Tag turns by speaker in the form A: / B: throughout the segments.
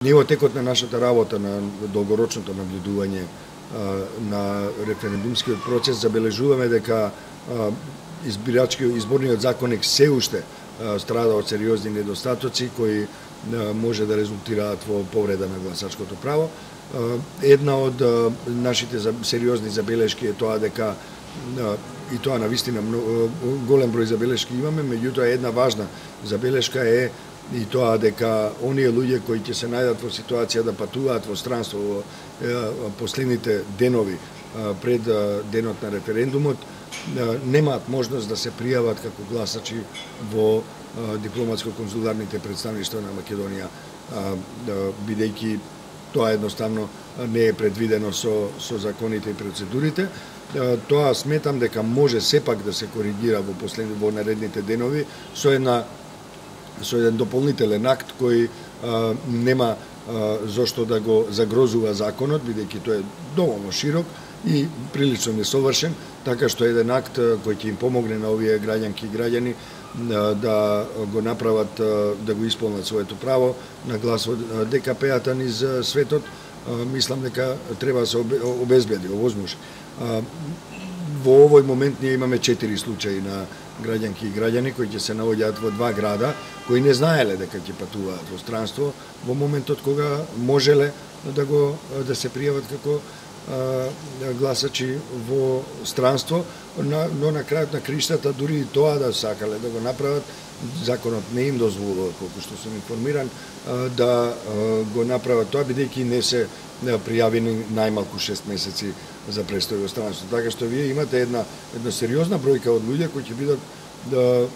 A: Ние во текот на нашата работа, на долгорочното наблюдување на референдумскиот процес, забележуваме дека изборниот законник се уште страда од сериозни недостатоци кои може да резултираат во повреда на гласачкото право. Една од нашите сериозни забелешки е тоа дека, и тоа навистина голем број забелешки имаме, меѓутоа една важна забелешка е и тоа дека оние луѓе кои ќе се најдат во ситуација да патуваат во странство во последните денови пред денот на референдумот, немаат можност да се пријават како гласачи во дипломатско-консуларните представништва на Македонија, бидејќи тоа едноставно не е предвидено со законите и процедурите. Тоа сметам дека може сепак да се коригира во наредните денови со еден дополнителен акт кој нема зошто да го загрозува законот, бидејќи тој е доволно широк и прилично несовршен, така што еден акт кој ќе им помогне на овие граѓанки и граѓани да го направат, да го исполнат своето право на глас од ДКП-ата низ светот, мислам дека треба да се обезбеди, овозможи. Во овој момент ние имаме 4 случаи на граѓанки и граѓани кои ќе се наоѓаат во 2 града, кои не знаеле дека ќе патуваат во странство во моментот кога можеле да се пријават како гласачи во странство, но на крајот на криштата дури и тоа да сакале да го направат, законот не им дозволува, колку што сум информиран, да го направат тоа, бидејќи не се пријавени најмалку 6 месеци за престој во странство. Така што вие имате една сериозна бројка од луѓе кои ќе бидат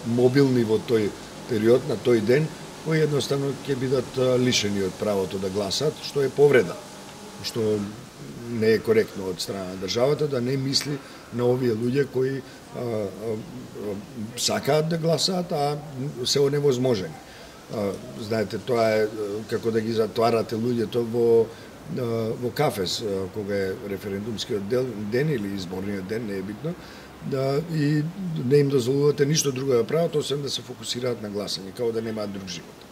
A: мобилни во тој период, на тој ден, кои едноставно ќе бидат лишени од правото да гласат, што е повреда, што не е коректно од страна на државата да не мисли на овие луѓе кои сакаат да гласаат, а се оневозможени. Знаете, тоа е како да ги затварате луѓето во кафес, кога е референдумскиот ден или изборниот ден, не е битно, и не им дозволувате ништо друго да прават, освен да се фокусираат на гласање, како да немаат друг живот.